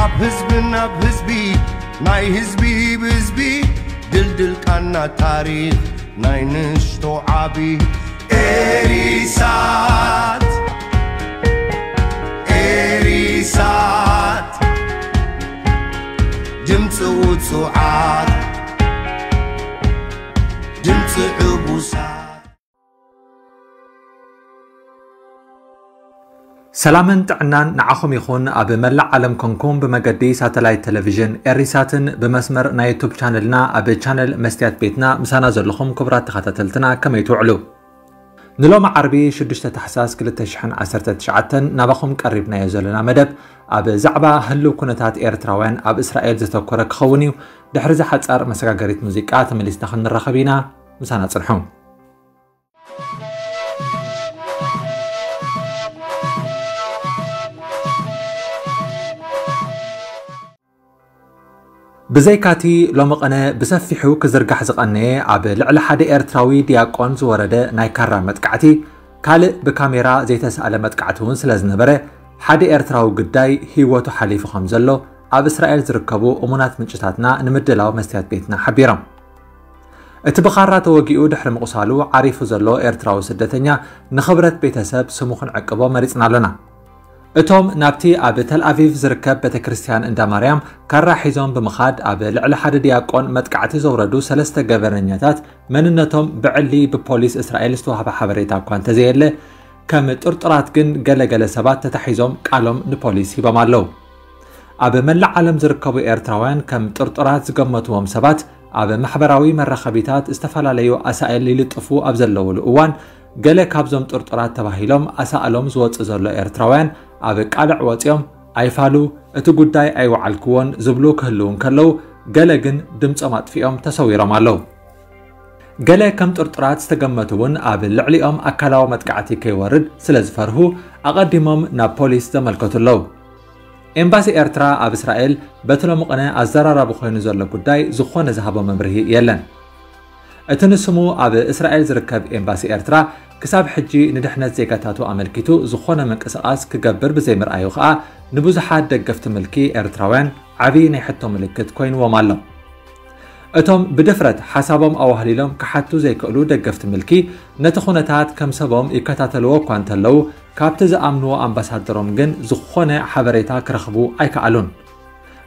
ኣብ ህዝቢ ናብ ህዝቢ ናይ ህዝቢ ብህዝቢ ድልድል ቃና ታሪኽ ናይ ንሽቶ ዓቢ ኤሪሳት ኤሪሳት ድምፂ ውፁዓት ድምፂ ዕቡሳት ሰላምን ጥዕናን ንዓኹም ይኹን። ኣብ መላእ ዓለም ኮንኩም ብመገዲ ሳተላይት ቴሌቪዥን ኤሪሳትን ብመስመር ናይ ዩቱብ ቻነልና ኣብ ቻነል መስትያት ቤትና ምሳና ዘለኹም ክቡራት ተኸታተልትና ከመይ ትውዕሉ? ንሎሚ ዓርቢ ሽዱሽተ ታሕሳስ ክልተ ሽሕን ዓሰርተ ትሽዓተን ናባኹም ቀሪብናዮ ዘለና መደብ ኣብ ዛዕባ ህልው ኩነታት ኤርትራውያን ኣብ እስራኤል ዘተኮረ ክኸውን እዩ። ድሕሪ እዛ ሓጻር መሰጋገሪት ሙዚቃ ተመሊስና ክንራኸብ ኢና። ምሳና ጽንሑ። ብዘይካቲ ሎሚ ቅነ ብሰፊሑ ክዝርጋሕ ዝቐነየ ኣብ ልዕሊ ሓደ ኤርትራዊ ዲያቆን ዝወረደ ናይ ካራ መጥቃዕቲ፣ ካልእ ብካሜራ ዘይተሳእለ መጥቃዕቲ እውን ስለ ዝነበረ፣ ሓደ ኤርትራዊ ግዳይ ህይወቱ ሓሊፉ ከም ዘሎ ኣብ እስራኤል ዝርከቡ እሙናት ምንጭታትና ንምድላው መስትያት ቤትና ሓቢሮም። እቲ ብኻራ ተወጊኡ ድሕሪ ምቑሳሉ ዓሪፉ ዘሎ ኤርትራዊ ስደተኛ ንኽብረት ቤተሰብ ስሙ ክንዕቅቦ መሪጽና ኣለና። እቶም ናብቲ ኣብ ተል ኣቪቭ ዝርከብ ቤተ ክርስቲያን እንዳ ማርያም ካራ ሒዞም ብምኻድ ኣብ ልዕሊ ሓደ ዲያቆን መጥቃዕቲ ዘውረዱ ሰለስተ ገበነኛታት መንነቶም ብዕሊ ብፖሊስ እስራኤል ዝተዋህበ ሓበሬታ እኳ እንተዘየለ፣ ከም ጥርጡራት ግን ገለገለ ሰባት ተታሒዞም ቃሎም ንፖሊስ ሂቦም ኣለዉ። ኣብ መላእ ዓለም ዝርከቡ ኤርትራውያን ከም ጥርጡራት ዝገመትዎም ሰባት ኣብ ማሕበራዊ መራኸቢታት ዝተፈላለዩ ኣሳእል ይልጥፉ ኣብ ዘለውሉ እዋን፣ ገለ ካብዞም ጥርጡራት ተባሂሎም ኣሳእሎም ዝወጽእ ዘሎ ኤርትራውያን ኣብ ቃልዕ ወጺኦም ኣይፋሉ፣ እቲ ጉዳይ ኣይወዓልክዎን ዝብሉ ክህልዉ እንከለዉ፣ ገለ ግን ድምጾም ኣጥፊኦም ተሰዊሮም ኣለዉ። ገለ ከም ጥርጡራት ዝተገመቱ እውን ኣብ ልዕሊኦም ኣካላዊ መጥቃዕቲ ከይወርድ ስለ ዝፈርሁ ኣቐዲሞም ናብ ፖሊስ ዘመልከቱ ኣለዉ። ኤምባሲ ኤርትራ ኣብ እስራኤል በቲ ሎሚ ቅነ ኣዘራራቢ ኮይኑ ዘሎ ጉዳይ ዝኾነ ዝሃቦ መብርሂ የለን። እቲ ንስሙ ኣብ እስራኤል ዝርከብ ኤምባሲ ኤርትራ ክሳብ ሕጂ ንድሕነት ዜጋታቱ ኣመልኪቱ ዝኾነ ምንቅስቓስ ክገብር ብዘይምርኣዩ ከኣ ንብዙሓት ደገፍቲ ምልኪ ኤርትራውያን ዓቢ ናይ ሕቶ ምልክት ኮይንዎም ኣሎ። እቶም ብድፍረት ሓሳቦም ኣዋህሊሎም ክሓቱ ዘይክእሉ ደገፍቲ ምልኪ ነቲ ኩነታት ከም ሰቦም ይከታተልዎ እኳ እንተለዉ፣ ካብቲ ዝኣምንዎ ኣምባሳደሮም ግን ዝኾነ ሓበሬታ ክረኽቡ ኣይከኣሉን።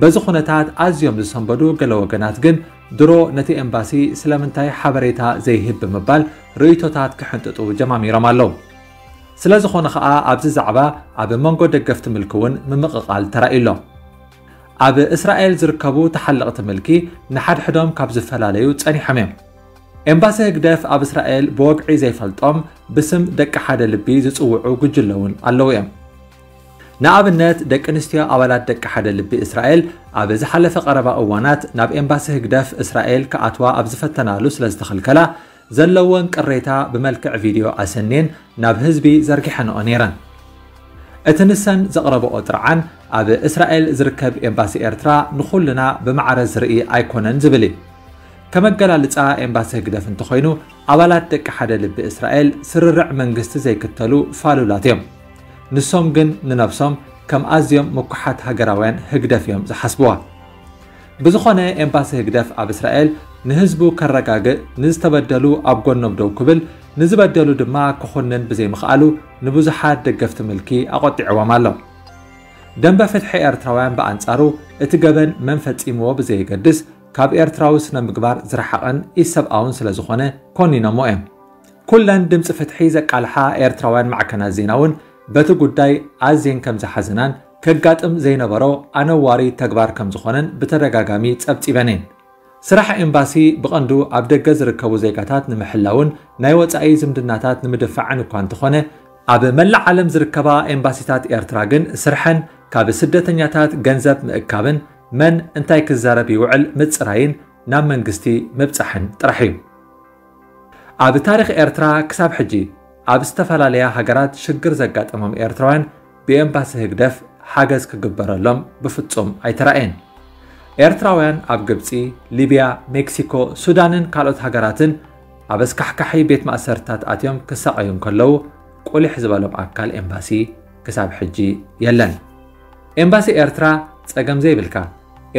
በዚ ኩነታት ኣዝዮም ዝሰንበዱ ገለ ወገናት ግን ድሮ ነቲ ኤምባሲ ስለምንታይ ሓበሬታ ዘይህብ ብምባል ርእይቶታት ክሕንጥጡ ጀማሚሮም ኣለዉ። ስለ ዝኾነ ኸኣ ኣብዚ ዛዕባ ኣብ መንጎ ደገፍቲ ምልኪ እውን ምምቕቓል ተራእዩ ኣሎ። ኣብ እስራኤል ዝርከቡ ተሓለቕቲ ምልኪ ንሓድሕዶም ካብ ዝፈላለዩ ጸኒሖም እዮም። ኤምባሲ ህግደፍ ኣብ እስራኤል ብወግዒ ዘይፈልጦም ብስም ደቂ ሓደ ልቢ ዝጽውዑ ጉጅለ እውን ኣለዉ እዮም። ንኣብነት ደቂ ኣንስትዮ ኣባላት ደቂ ሓደ ልቢ እስራኤል ኣብ ዝሓለፈ ቀረባ እዋናት ናብ ኤምባሲ ህግደፍ እስራኤል ክኣትዋ ኣብ ዝፈተናሉ ስለ ዝተኸልከላ ዘለወን ቅሬታ ብመልክዕ ቪድዮ ኣሰንየን ናብ ህዝቢ ዘርጊሐንኦ ነይረን። እቲ ንሰን ዘቕረብኦ ጥርዓን ኣብ እስራኤል ዝርከብ ኤምባሲ ኤርትራ ንኹልና ብማዕረ ዝርኢ ኣይኮነን ዝብል እዩ። ከመገላልጻ ኤምባሲ ህግደፍ እንተኾይኑ ኣባላት ደቂ ሓደ ልቢ እስራኤል ስርርዕ መንግስቲ ዘይክተሉ ፋሉላት እዮም። ንሶም ግን ንነብሶም ከም ኣዝዮም ምኩሓት ሃገራውያን ህግደፍ እዮም ዝሓስብዋ። ብዝኾነ ኤምባሲ ህግደፍ ኣብ እስራኤል ንህዝቡ ከረጋግእ፣ ንዝተበደሉ ኣብ ጎኖም ደው ክብል፣ ንዝበደሉ ድማ ክኹንን ብዘይምኽኣሉ ንብዙሓት ደገፍቲ ምልኪ ኣቖጢዕዎም ኣሎ። ደንበ ፍትሒ ኤርትራውያን ብኣንጻሩ እቲ ገበን መን ፈጺምዎ ብዘየገድስ ካብ ኤርትራዊ ስነ ምግባር ዝረሓቐን ኢሰብኣውን ስለ ዝኾነ ኮኒኖሞ እዮም። ኩለን ድምፂ ፍትሒ ዘቃልሓ ኤርትራውያን ማዕከናት ዜና እውን በቲ ጉዳይ ኣዝየን ከም ዝሓዘናን ከጋጥም ዘይነበሮ ኣነዋሪ ተግባር ከም ዝኾነን ብተደጋጋሚ ጸብጺበን እየን። ስራሕ ኤምባሲ ብቐንዱ ኣብ ደገ ዝርከቡ ዜጋታት ንምሕላውን ናይ ወጻኢ ዝምድናታት ንምድፋዕን እኳ እንተኾነ፣ ኣብ መላእ ዓለም ዝርከባ ኤምባሲታት ኤርትራ ግን ስርሐን ካብ ስደተኛታት ገንዘብ ምእካብን መን እንታይ ክዛረብ ይውዕል ምጽራይን ናብ መንግስቲ ምብጻሕን ጥራሕ እዩ። ኣብ ታሪኽ ኤርትራ ክሳብ ሕጂ ኣብ ዝተፈላለያ ሃገራት ሽግር ዘጋጠሞም ኤርትራውያን ብኤምባሲ ህግደፍ ሓገዝ ክግበረሎም ብፍጹም ኣይተራእየን። ኤርትራውያን ኣብ ግብጺ፣ ሊብያ፣ ሜክሲኮ፣ ሱዳንን ካልኦት ሃገራትን ኣብ ኣስካሕካሒ ቤት ማእሰርትታት ኣትዮም ክሳቐዩ እንከለዉ ቁሊሕ ዝበሎም ኣካል ኤምባሲ ክሳብ ሕጂ የለን። ኤምባሲ ኤርትራ ጸገም ዘይብልካ።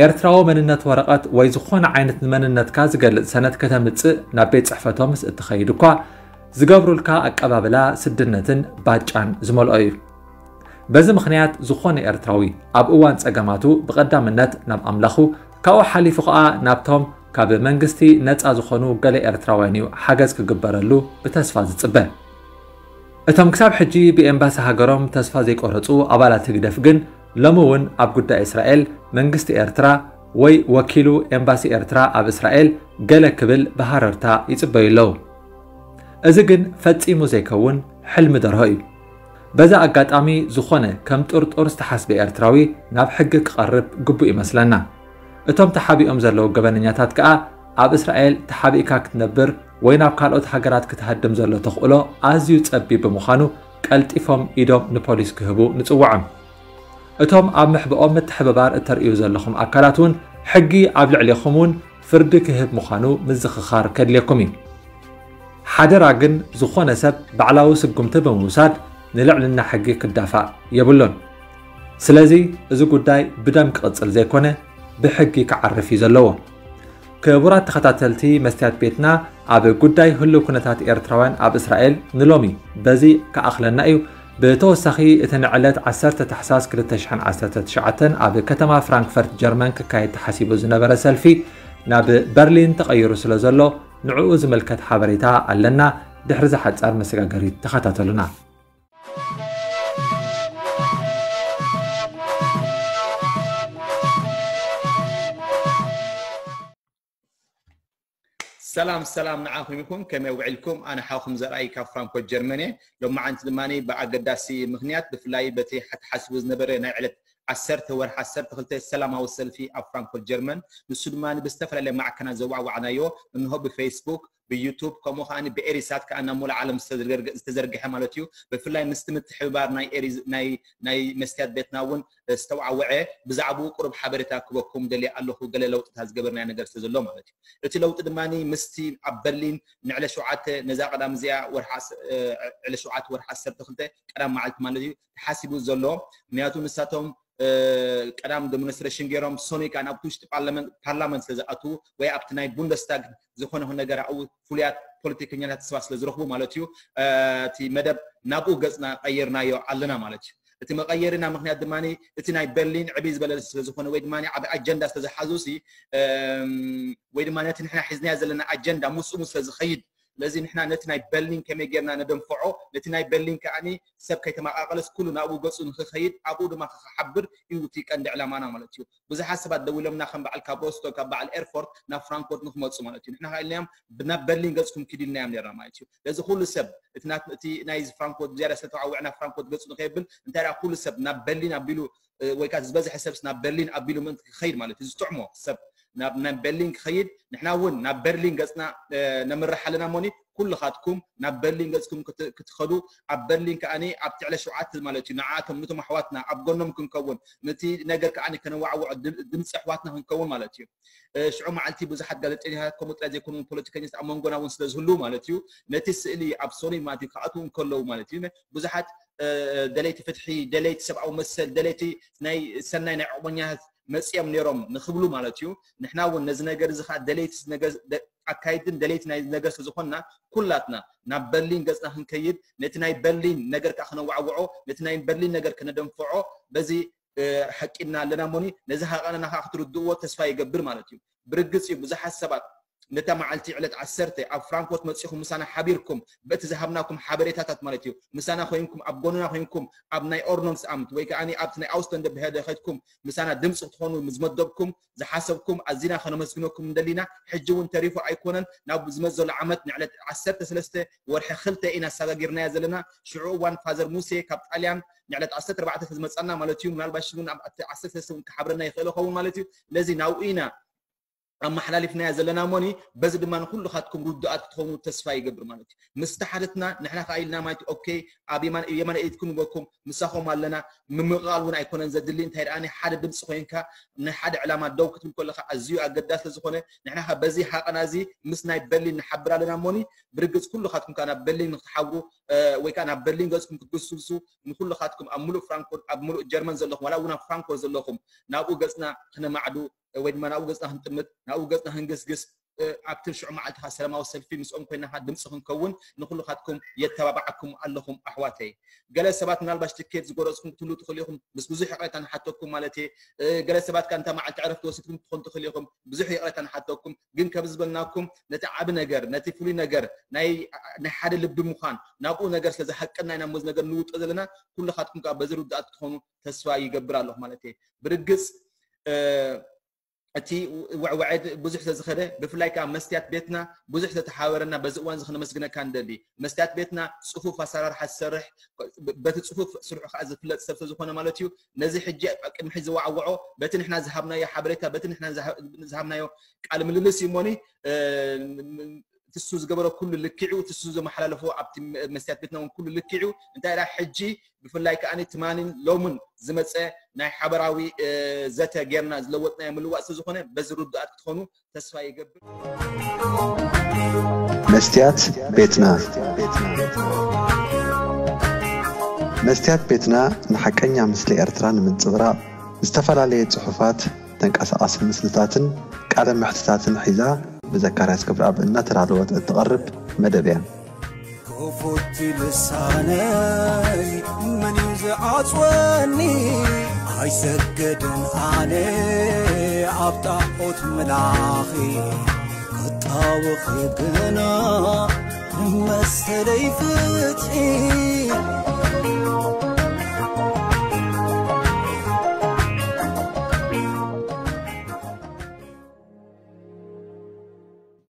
ኤርትራዊ መንነት ወረቐት ወይ ዝኾነ ዓይነት ንመንነትካ ዝገልጽ ሰነድ ከተምጽእ ናብ ቤት ጽሕፈቶምስ እትኸይድ እኳ፣ ዝገብሩልካ ኣቀባብላ ስድነትን ባጫን ዝመልኦ እዩ። በዚ ምኽንያት ዝኾነ ኤርትራዊ ኣብ እዋን ጸገማቱ ብቐዳምነት ናብ ኣምላኹ፣ ካብኡ ሓሊፉ ኸኣ ናብቶም ካብ መንግስቲ ነጻ ዝኾኑ ገለ ኤርትራውያን እዩ ሓገዝ ክግበረሉ ብተስፋ ዝጽበ። እቶም ክሳብ ሕጂ ብኤምባሲ ሃገሮም ተስፋ ዘይቆረጹ ኣባላት ህግደፍ ግን ሎሚ እውን ኣብ ጉዳይ እስራኤል መንግስቲ ኤርትራ ወይ ወኪሉ ኤምባሲ ኤርትራ ኣብ እስራኤል ገለ ክብል ብሃረርታ ይጽበዩ ኣለዉ። እዚ ግን ፈጺሙ ዘይከውን ሕልሚ ደርሆ እዩ። በዚ ኣጋጣሚ ዝኾነ ከም ጥርጡር ዝተሓስበ ኤርትራዊ ናብ ሕጊ ክቐርብ ግቡእ ይመስለና። እቶም ተሓቢኦም ዘለዉ ገበነኛታት ከኣ ኣብ እስራኤል ተሓቢእካ ክትነብር ወይ ናብ ካልኦት ሃገራት ክትሃድም ዘሎ ተኽእሎ ኣዝዩ ጸቢብ ብምዃኑ ቀልጢፎም ኢዶም ንፖሊስ ክህቡ ንጽውዖም። እቶም ኣብ ምሕብኦም ምትሕብባር እተርእዩ ዘለኹም ኣካላት እውን ሕጊ ኣብ ልዕሌኹም እውን ፍርዲ ክህብ ምዃኑ ምዝኽኻር ከድልየኩም እዩ። ሓደራ ግን ዝኾነ ሰብ ባዕላዊ ስጉምቲ ብምውሳድ ንልዕልና ሕጊ ክዳፋእ የብሉን። ስለዚ እዚ ጉዳይ ብደም ክቕጽል ዘይኮነ ብሕጊ ክዓርፍ እዩ ዘለዎ። ክቡራት ተኸታተልቲ መስትያት ቤትና፣ ኣብ ጉዳይ ህሉው ኩነታት ኤርትራውያን ኣብ እስራኤል ንሎሚ በዚ ክኣኽለና እዩ። ብተወሳኺ እቲ ንዕለት ዓሰርተ ታሕሳስ ክልተ ሽሕን ዓሰርተ ትሽዓተን ኣብ ከተማ ፍራንክፈርት ጀርመን ክካየድ ተሓሲቡ ዝነበረ ሰልፊ ናብ በርሊን ተቐይሩ ስለ ዘሎ ንዕኡ ዝምልከት ሓበሬታ ኣለና። ድሕሪ ዝሓጻር መሰጋገሪት ተኸታተሉና። ሰላም ሰላም ንዓኹም ይኹን፣ ከመይ ውዒልኩም? ኣነ ሓውኹም ዘርኣይ ካብ ፍራንክፈርት ጀርመን እየ። ሎማዓንቲ ድማ ብኣገዳሲ ምኽንያት ብፍላይ በቲ ተሓሲቡ ዝነበረ ናይ ዕለት ዓሰርተ ወርሒ ዓሰርተ ክልተ ሰላማዊ ሰልፊ ኣብ ፍራንክፈርት ጀርመን፣ ንሱ ድማ ብዝተፈላለየ ማዕከናት ዘዋዕዋዕናዮ፣ እንሆ ብፌስቡክ፣ ብዩቱብ፣ ከምኡ ከኣ ብኤሪሳት ከኣ ናብ ሙሉእ ዓለም ዝተዘርገ-፣ ዝተዘርግሐ ማለት እዩ። ብፍላይ ምስቲ ምትሕብባር ናይ ኤሪ-፣ ናይ፣ ናይ መስትያት ቤትና እውን ዝተዋዕወዐ፣ ብዛዕባኡ ቁሩብ ሓበሬታ ክበኩም ደልየ ኣለኹ፣ ገለ ለውጥታት ዝገበርናዮ ነገር ስለ ዘሎ ማለት እዩ። እቲ ለውጢ ድማ ምስቲ ኣብ በርሊን ንዕለ ሸውዓተ፣ ነዛ ቀዳም እዚኣ ወርሒ ዓስ-፣ እ፣ ዕለ ሸውዓተ ወርሒ ዓሰርተ ክልተ ቀዳም መዓልቲ ማለት እዩ ተሓሲቡ ዘሎ። ምክንያቱ ንሳቶም፣ እ፣ ቀዳም ዴሞንስትሬሽን ገይሮም፣ ሰኑይ ከኣ ናብቲ ውሽጢ ፓርላመንት፣ ፓርላመንት ስለ ዝኣትዉ ወይ ኣብቲ ናይ ቡንደስታግ ዝኾነ ይኹን ነገር ኣብኡ ፍሉያት ፖለቲከኛታት ስባ ስለ ዝረኽቡ ማለት እዩ፣ እ፣ እቲ መደብ ናብኡ ገጽና ቀይርናዮ ኣለና ማለት እዩ። እቲ መቐየሪና ምኽንያት ድማ እቲ ናይ በርሊን ዕብይ ዝበለ ስለ ዝኾነ ወይ ድማ ዓቢ ኣጀንዳ ስለ ዝሓዙ ሲ፣ እም፣ ወይ ድማ ነቲ ንሕና ሒዝናዮ ዘለና ኣጀንዳ ምስኡ ስለ ዝኸይድ፣ ስለዚ ንሕና ነቲ ናይ በርሊን ከመይ ጌርና ነደንፍዖ፣ ነቲ ናይ በርሊን ከኣኒ ሰብ ከይተመቓቐለስ ኩሉ ናብኡ ገጹ ንኽኸይድ፣ ኣብኡ ድማ ክሓብር እዩ እቲ ቀንዲ ዕላማና ማለት እዩ። ብዙሓት ሰባት ደዊሎምና ከም በዓል ካብ ሮስቶክ፣ ካብ በዓል ኤርፎርት ናብ ፍራንክፎርት ንክመጹ ማለት እዩ። ንሕና ከኣ ኢልናዮም፣ ናብ በርሊን ገጽኩም ኪዱ ኢልናዮም ኔርና ማለት እዩ። ስለዚ ኩሉ ሰብ፣ እቲ ናት-፣ እቲ ናይ ፍራንክፎርት ብዝያዳ ስለ ተዋዕውዕና ፍራንክፎርት ገጹ ንኸየብል፣ እንታይ ደኣ ኩሉ ሰብ ናብ በርሊን ኣቢሉ፣ እ፣ ወይ ከኣ ዝበዝሐ ሰብስ ናብ በርሊን ኣቢሉ ምእንቲ ክኸይድ ማለት እዩ። ዝጥዕሞ ሰብ ናብ፣ ናብ በርሊን ክኸይድ፣ ንሕና እውን ናብ በርሊን ገጽና፣ እ፣ ነምርሕ ኣለና እሞኒ፣ ኩልኻትኩም ናብ በርሊን ገጽኩም ክት-፣ ክትኸዱ፣ ኣብ በርሊን ከኣኒ ኣብቲ ዕለ ሸውዓተ ማለት እዩ፣ ንዓኣቶም፣ ነቶም ኣሕዋትና ኣብ ጎኖም ክንከውን፣ ነቲ ነገር ከኣኒ ከነዋዕውዖ፣ ድም-፣ ድምጺ ኣሕዋትና ክንከውን ማለት እዩ። እ፣ ሽዑ መዓልቲ ብዙሓት ጋዜጠኛታት ከምኡ ጥራይ ዘይኮኑ ፖለቲከኛታት ኣብ መንጎና እውን ስለ ዝህልዉ ማለት እዩ፣ ነቲ ስእሊ ኣብ ሶኒ ማለት እዩ ክኣትዉ እንከለዉ ማለት እዩ፣ ብዙሓት፣ እ፣ ደለይቲ ፍትሒ፣ ደለይቲ ሰብኣዊ መሰል፣ ደለይቲ ናይ ሰናይ ናይ ዑቕበኛታት መጺኦም ነይሮም ንኽብሉ ማለት እዩ። ንሕና እውን ነዚ ነገር እዚ ኸኣ ደለይቲ ነገር ደ-፣ ኣካይድን ደለይቲ ናይ ነገር ስለ ዝኾንና ኩላትና ናብ በርሊን ገጽና ክንከይድ፣ ነቲ ናይ በርሊን ነገር ከኣ ክነዋዕውዖ፣ ነቲ ናይ በርሊን ነገር ከነደንፍዖ በዚ፣ እ፣ ሓቂና ኣለና እሞኒ፣ ነዚ ሓቕና ከኣ ክትርድእዎ ተስፋ ይገብር ማለት እዩ። ብርግጽ እዩ ብዙሓት ሰባት ነታ መዓልቲ ዕለት ዓሰርተ ኣብ ፍራንክፎርት መጺኹም ምሳና ሓቢርኩም በቲ ዝሃብናኩም ሓበሬታታት ማለት እዩ፣ ምሳና ኮይንኩም ኣብ ጎንና ኮይንኩም ኣብ ናይ ኦርዶናንስ ኣምት ወይ ከኣ ኣብቲ ናይ ኣውስለንደ ብሄደ ከድኩም ምሳና ድምጺ ክትኾኑ ዝመደብኩም ዝሓሰብኩም ኣዚና ከነመስግነኩም እንደሊና። ሕጂ እውን ተሪፉ ኣይኮነን፣ ናብ ዝመጽእ ዘሎ ዓመት ንዕለት ዓሰርተ ሰለስተ ወርሒ ክልተ ኢና ኣሰጋጊርናያ ዘለና። ሽዑ እዋን ፋዘር ሙሴ ካብ ጣልያን ንዕለት ዓሰርተ ኣርባዕተ ስለ ዝመጻና ማለት እዩ፣ ምናልባሽ እውን ኣብ ዓሰርተ ሰለስተ እውን ክሓብረና ይኽእል ይኸውን ማለት እዩ። ስለዚ ናብኡ ኢና ኣመሓላሊፍናያ ዘለና ሞኒ፣ በዚ ድማ ንኩልኻትኩም ርዱኣት ክትኾኑ ተስፋ ይገብር ማለት እዩ። ምስ ተሓተትና ንሕና ከኣ ኢልና ማለት እዩ፣ ኦኬ፣ ኣብ የማን ኢድኩም ንበኩም፣ ምሳኹም ኣለና፣ ምምቕቓል እውን ኣይኮነን ዘድሊ። እንታይ ደኣ ናይ ሓደ ድምፂ ኮይንካ ናይ ሓደ ዕላማ ደው ክትብል ከለኻ ኣዝዩ ኣገዳሲ ዝኾነ፣ ንሕና ከ በዚ ሃቐና እዚ ምስ ናይ በርሊን ንሓብር ኣለና ሞኒ። ብርግፅ ኩልኻትኩም ከኣ ናብ በርሊን ንክትሓብሩ ወይ ከዓ ናብ በርሊን ገፅኩም ክትግስግሱ ንኩልኻትኩም ኣብ ሙሉእ ፍራንክፎርት ኣብ ሙሉእ ጀርመን ዘለኹም ዋላ እውን ኣብ ፍራንክፎርት ዘለኹም ናብኡ ገፅና ክነማዕዱ ወይ ድማ ናብኡ ገፅና ክንጥምት ናብኡ ገፅና ክንግስግስ ኣብቲ ሽዑ መዓልትኻ ሰላማዊ ሰልፊ ምስኦም ኮይናኻ ድምፂ ክንከውን ንኩልኻትኩም የተባባዓኩም ኣለኹም ኣሕዋተይ። ገለ ሰባት ምናልባሽ ትኬት ዝጎረፅኩም ክትህሉ ትኽእሉ ኢኹም፣ ምስ ብዙሕ ይቕሬታ ንሓተኩም ማለት እየ። ገለ ሰባት ከ እንታ መዓልቲ ዕረፍቲ ወሲድኩም ትኾን ትኽእሉ ኢኹም፣ ብዙሕ ይቕሬታ ንሓተኩም። ግን ከም ዝበልናኩም ነቲ ዓቢ ነገር ነቲ ፍሉይ ነገር ናይ ሓደ ልቢ ምዃን ናብኡ ነገር ስለ ዝሃቀና ኢና ሞዚ ነገር ንውጦ ዘለና። ኩልኻትኩም ከዓ በዚ ርዱኣት ክትኾኑ ተስፋ ይገብር ኣለኹ ማለት እየ። ብርግፅ እቲ ወዕወዐድ ብዙሕ ስለዝኸደ ብፍላይ ከዓ መስትያት ቤትና ብዙሕ ስለተሓበረና በዚ እዋን እዚ ክነመስግነካ ንደሊ። መስትያት ቤትና ፅፉፍ ኣሰራርሓ ዝሰርሕ በቲ ፅፉፍ ስርሑ ከዓ ዝፍለጥ ሰብ ስለዝኾነ ማለት እዩ። ነዚ ሕጂ ቅድሚ ሕጂ ዝዋዕወዖ በቲ ንሕና ዝሃብናዮ ሓበሬታ በቲ ንሕና ዝሃብናዮ ቃል ምልልስ እዩ እሞኒ ትሱ ዝገበሮ ኩሉ ልክዕኡ ትሱ ዘመሓላለፎ ኣብቲ መስትያት ቤትና እውን ኩሉ ልክዕኡ እንታይ ዳ ሕጂ ብፍላይ ከኣ ትማኒን ሎምን ዝመፀ ናይ ሓበራዊ ዘተ ጌርና ዝለወጥናዮ ምልዋጥ ስለዝኾነ በዚ ርዱኣት ክትኾኑ ተስፋ ይገብር። መስትያት ቤትና መስትያት ቤትና ንሓቀኛ ምስሊ ኤርትራ ንምንጽብራቕ ዝተፈላለየ ጽሑፋት፣ ተንቀሳቓሲ ምስልታትን ቃለ መሕትታትን ሒዛ ብዘካርያስ ክብረኣብ እናተዳለወት እትቐርብ መደብ እያ። ክፉት ልሳነይ መን እዩ ዝዓጽወኒ? ኣይሰግድን ኣነ ኣብ ጣዖት ምላኺ ክጣወኺ ግና መሰለይ ፍትሒ